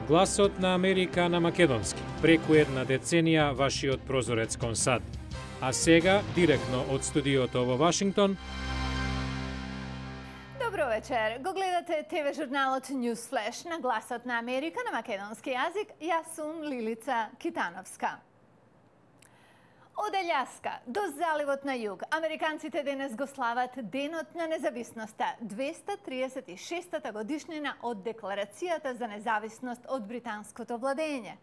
Гласот на Америка на македонски. Преку една деценија вашиот прозорец кон САД. А сега, директно од студиото во Вашингтон. Добро вечер. Го гледате ТВ журналот News Flash на Гласот на Америка на македонски јазик. Јас сум Лилица Китановска. Од Аљаска до заливот на југ, американците денес го слават Денот на независноста, 236-та годишнина од Декларацијата за независност од британското владење.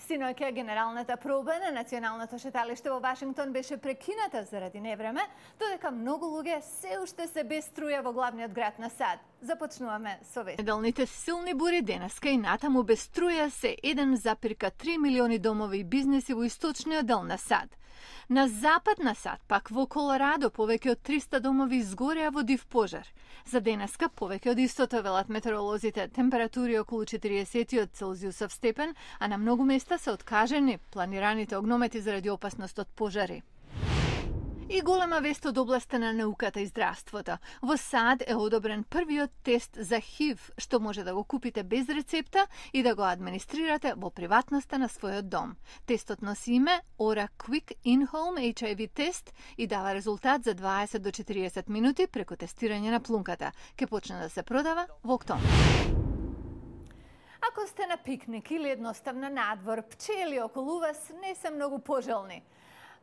Синоќа генералната проба на националното шеталиште во Вашингтон беше прекината заради невреме, додека многу луѓе се уште се без струја во главниот град на САД. Започнуваме со вест. Неделните силни бури денеска и натаму без струја се 1,3 милиони домови и бизнеси во источниот дел на САД. На запад на САД, пак во Колорадо, повеќе од 300 домови изгореа во див пожар. За денеска повеќе од истото велат метеоролозите, температури околу 40 Целзиусов степен, а на многу места се откажени планираните огномети заради опасност од пожари. И голема вест од областа на науката и здравството. Во САД е одобрен првиот тест за ХИВ, што може да го купите без рецепта и да го администрирате во приватноста на својот дом. Тестот носи име Aura Quick In-Home HIV тест и дава резултат за 20 до 40 минути преку тестирање на плунката. Ке почне да се продава во октомври. Ако сте на пикник или едноставно надвор, пчели околу вас не се многу пожелни.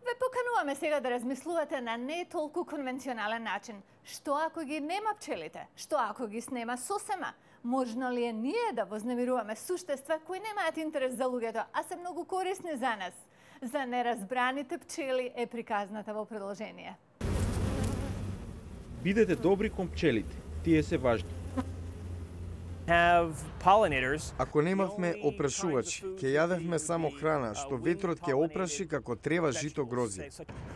Ве покануваме сега да размислувате на не толку конвенционален начин. Што ако ги нема пчелите? Што ако ги снема сосема? Можно ли е ние да вознемируваме суштества кои немаат интерес за луѓето, а се многу корисни за нас? За неразбраните пчели е приказната во продолжение. Бидете добри кон пчелите, тие се важни. Ако немавме опрашувачи, ќе јадевме само храна што ветрот ќе опраши како трева жито грози.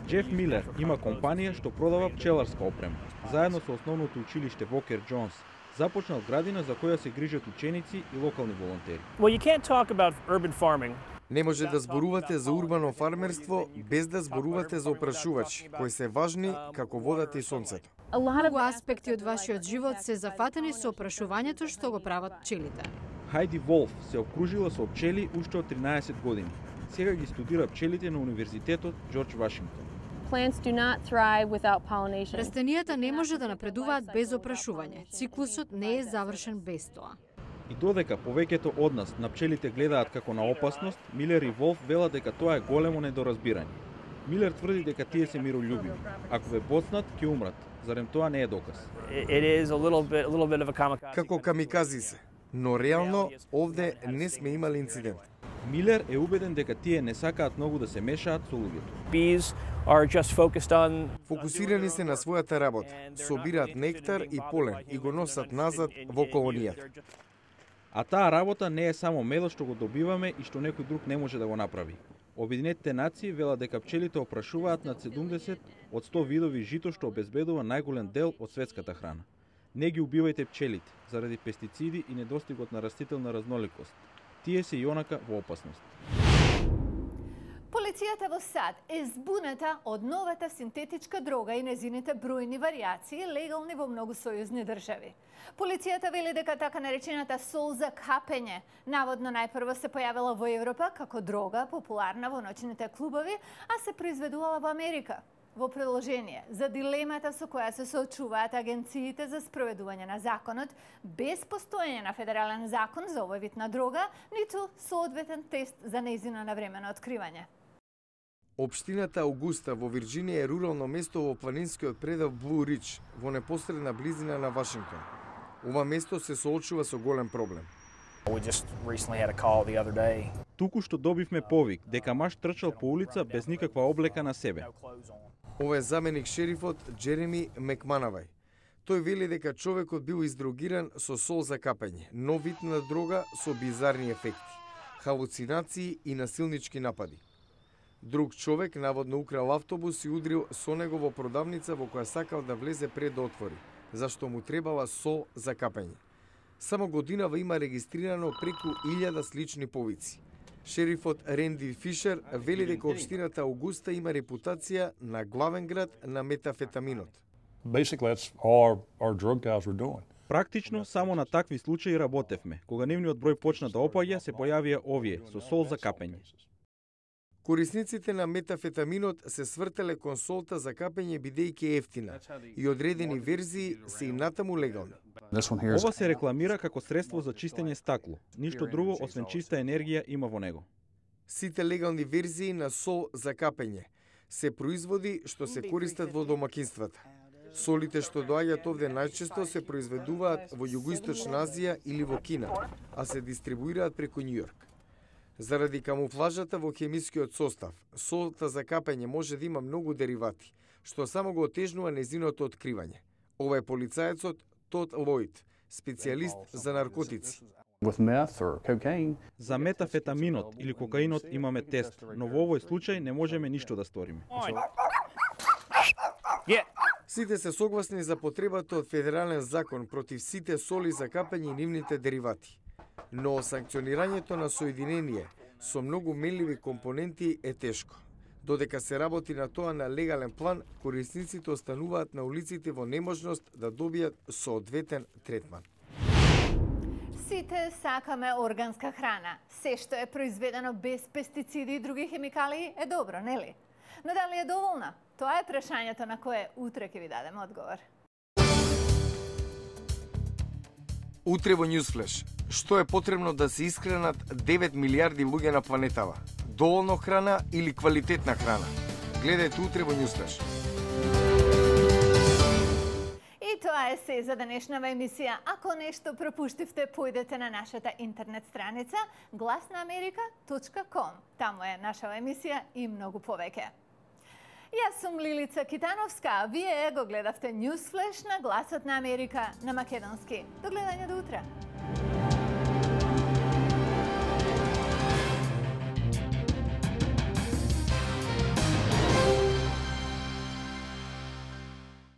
Джеф Милер има компанија што продава пчеларска опрема. Заедно со основното училиште Вокер Джонс започнал градина за која се грижат ученици и локални волонтери. Не може да зборувате за урбано фармерство без да зборувате за опрашувачи, кои се важни како водата и сонцето. Многу аспекти од вашиот живот се зафатени со опрашувањето што го прават пчелите. Хайди Волф се обкружила со пчели уште од 13 години. Сега ги студира пчелите на Универзитетот Џорџ Вашингтон. Растенијата не може да напредуваат без опрашување. Циклусот не е завршен без тоа. И додека повеќето од нас на пчелите гледаат како на опасност, Милер и Волф велат дека тоа е големо недоразбирање. Милер тврди дека тие се мирољубиви. Ако ве боцнат, ќе умрат. Зарем тоа не е доказ? Како камикази се, но реално овде не сме имали инцидент. Милер е убеден дека тие не сакаат многу да се мешаат со луѓето. Фокусирани се на својата работа, собираат нектар и полен и го носат назад во колонијата. А таа работа не е само медот што го добиваме и што некој друг не може да го направи. Обединетите нации велат дека пчелите опрашуваат над 70 од 100 видови жито што обезбедува најголем дел од светската храна. Не ги убивајте пчелите заради пестициди и недостигот на растителна разноликост. Тие се и онака во опасност. Полицијата во САД е збуната од новата синтетичка дрога и незините бројни варијации легални во многу сојузни држави. Полицијата вели дека така наречената сол за капење наводно најпрво се појавила во Европа како дрога популарна во ноќните клубови, а се произведувала во Америка. Во продолжение за дилемата со која се соочуваат агенциите за спроведување на законот, без постоење на федерален закон за овој вид на дрога, ниту соодветен тест за нејзино навремено откривање. Општината Аугуста во Вирџинија е рурално место во планинскиот предел Блу Ридж, во непосредна близина на Вашингтон. Ова место се соочува со голем проблем. Туку што добивме повик дека маж трчал по улица без никаква облека на себе. Ова е заменик шерифот Джереми Мекманавај. Тој вели дека човекот бил издрогиран со сол за капење, нов вид на дрога со бизарни ефекти, халуцинации и насилнички напади. Друг човек наводно украл автобус и удрил со него во продавница во која сакал да влезе пред да отвори, зашто му требала сол за капење. Само годинава има регистрирано преку 1000 слични повици. Шерифот Ренди Фишер вели дека општината Аугуста има репутација на главен град на метафетаминот. Basically, that's all our drug guys were doing. Практично, само на такви случаи работевме. Кога нивниот број почна да опаѓа, се појавија овие, со сол за капење. Корисниците на метафетаминот се свртеле кон солта за капење бидејќи ефтина и одредени верзии се и натаму легални. Ова се рекламира како средство за чистење стакло. Ништо друго освен чиста енергија има во него. Сите легални верзии на сол за капење се производи што се користат во домакинствата. Солите што доаѓаат овде најчесто се произведуваат во Југоисточна Азија или во Кина, а се дистрибуираат преку Њујорк. Заради камуфлажата во хемискиот состав, солта за капење може да има многу деривати, што само го отежнува незиното откривање. Ова е полицаецот Тод Лојд, специјалист за наркотици. За метафетаминот или кокаинот имаме тест, но во овој случај не можеме ништо да сториме. Сите се согласни за потребата од федерален закон против сите соли за капење и нивните деривати. Но санкционирањето на соединение со многу менливи компоненти е тешко. Додека се работи на тоа на легален план, корисниците остануваат на улиците во неможност да добијат соодветен третман. Сите сакаме органска храна. Се што е произведено без пестициди и други хемикалии е добро, нели? Но дали е доволна? Тоа е прашањето на кое утре ќе ви дадем одговор. Утре во Newsflash. Што е потребно да се исхранат 9 милиарди луѓе на планетава? Доволно храна или квалитетна храна? Гледајте утре во Newsflash. И тоа е се за денешнава емисија. Ако нешто пропуштивте, појдете на нашата интернет страница glasnaamerika.com. Таму е нашава емисија и многу повеќе. Јас сум Лилица Китановска, вие го гледавте Newsflash на Гласот на Америка на македонски. До гледање до утре.